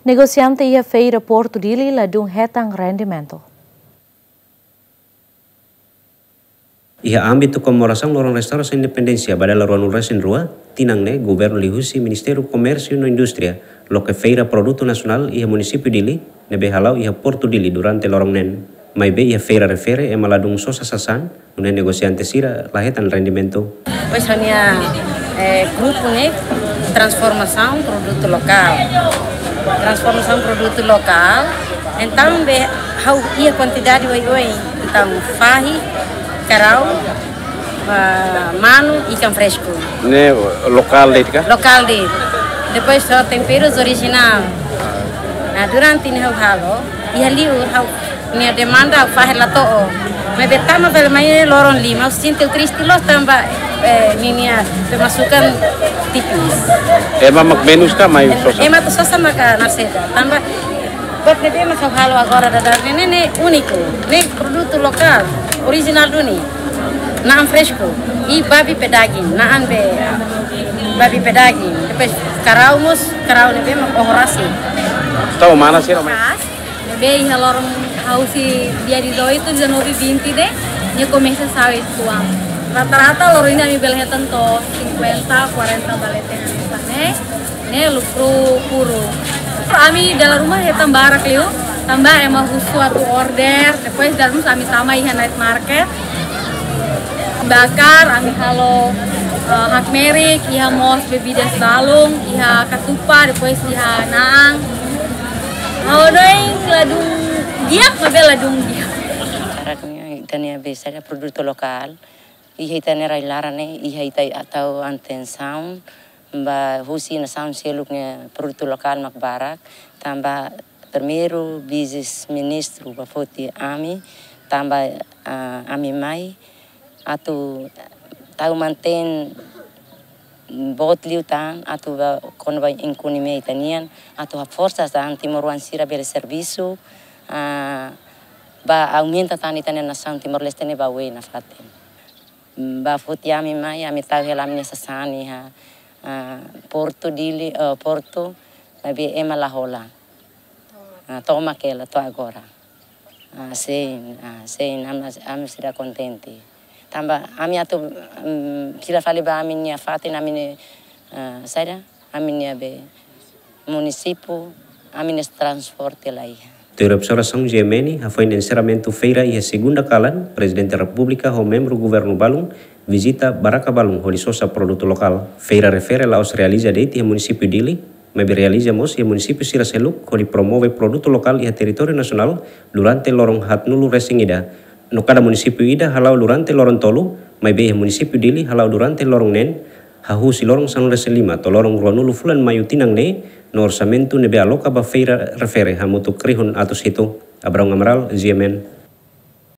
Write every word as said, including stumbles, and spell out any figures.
Negosiante iha Feira Portu Dili ladún hetan rendimentu. Iha ámbitu komemorasaun loron restaurasaun independénsia ba dala ruanulu-resin-rua, tinan ne'e governu liuhusi Ministériu Komérsiu no Indústria loke feira produtu nasionál iha munisípiu Dili, ne'ebé hala'o iha Portu Dili durante loron neen. Maibé iha feira refere ema ladún sosa sasán, nune'e negosiante sira la hetan rendimentu. Pois ha'u-nia, eh, grupu ne'e transformasaun produtu lokál. Transformasaun produtu lokál. Entaun be ha'u iha kuantidade oioin. Entaun fahi, karau, ah, manu, ikan fresku. Ne'e lokál de'it ka? Lokál de'it. Depois só temperus orijinál. Nah, durante ne'e ha'u halo, iha liur ha'u-nia demanda ha'u fahe la to'o. Maibé tama bele mai loron lima, ha'u sente triste loos tanba, eh, ninia pemasukan tipis. Ema mak menus ka mai sosa? Ema atu sosa maka nasida. Tanba buat ne'ebé mak ha'u halo agora daudaun ne'e, ne'e úniku. Ne'e produtu lokál, orijinál duni. Na'an fresku. I babi pé daging, na'an be babi pé daging. Depois karau mós, karau ne'ebé mak oho rasik. Tau mana sira mai? Pas, ne'ebé iha loron ha'u husi dia dezoito, dezanove, vinte ne'e, nia komesa sa'e uitoan. Rata-rata loron ne'e ami bele hetan to'o cinquenta, quarenta ba leten hanesan ne'e. Ne'e lukru puru. Ami dala ruma hetan barak liu, tanba ema husu atu order, depois dala ruma ami tama iha night market. Bakar, ami halo, eh, hakmerik, iha mós bebidas balun, iha katupa, depois iha na'an. Ha'u hanoin ladún di'ak, maibé ladún di'ak. Barak ne'e, ita-nia be saida produtu lokál. Iha ita-nia rai-laran ne'e, iha ita tau atensaun ba husi nasaun seluk nia produtu lokál mak barak, tanba primeiru vise-ministru bá foti ami, tanba, ah, ami mai atu tau mantein boot liután, atu bá kona-ba ekonomia ita-nian, atu haforsa tan timoroan sira bele servisu, ah, bá aumenta tan ita-nia nasaun Timor-Leste ne'e ba oin nafatin. Bá foti ami mai, ami tau hela ami-nia sasán iha, ah, Portu Dili, eh, Portu, maibé ema la hola. Ah, tomak hela to'o agora. Ah, sin, ah, sin, ami, ami seidauk kontente. Tanba ami atu, mm, fila fali ba ami-nia fatin, ami-nia, ah, saida, ami-nia be munisípiu, ami-nia transporte la iha. Tuir observasaun G M N, hafoin enserramentu feira iha segunda kalan, Prezidente Repúblika ho membru governu balun vizita barraka balun hodi sosa produtu lokál. Feira refere la'ós realiza de'it iha munisípiu Dili, maibé realiza mós iha munisípiu sira seluk hodi promove produtu lokál iha territóriu nasionál durante loron haatnulu-resin-ida. No kada munisípiu ida hala'o durante loron tolu, maibé iha munisípiu Dili hala'o durante loron neen, hahú husi loron sanulu-resin-lima to'o loron ruanulu fulan Maiu tinan ne'e, no orsamentu ne'ebé aloka ba feira refere hamutuk rihun atus hitu. Abraão Amaral, G M N.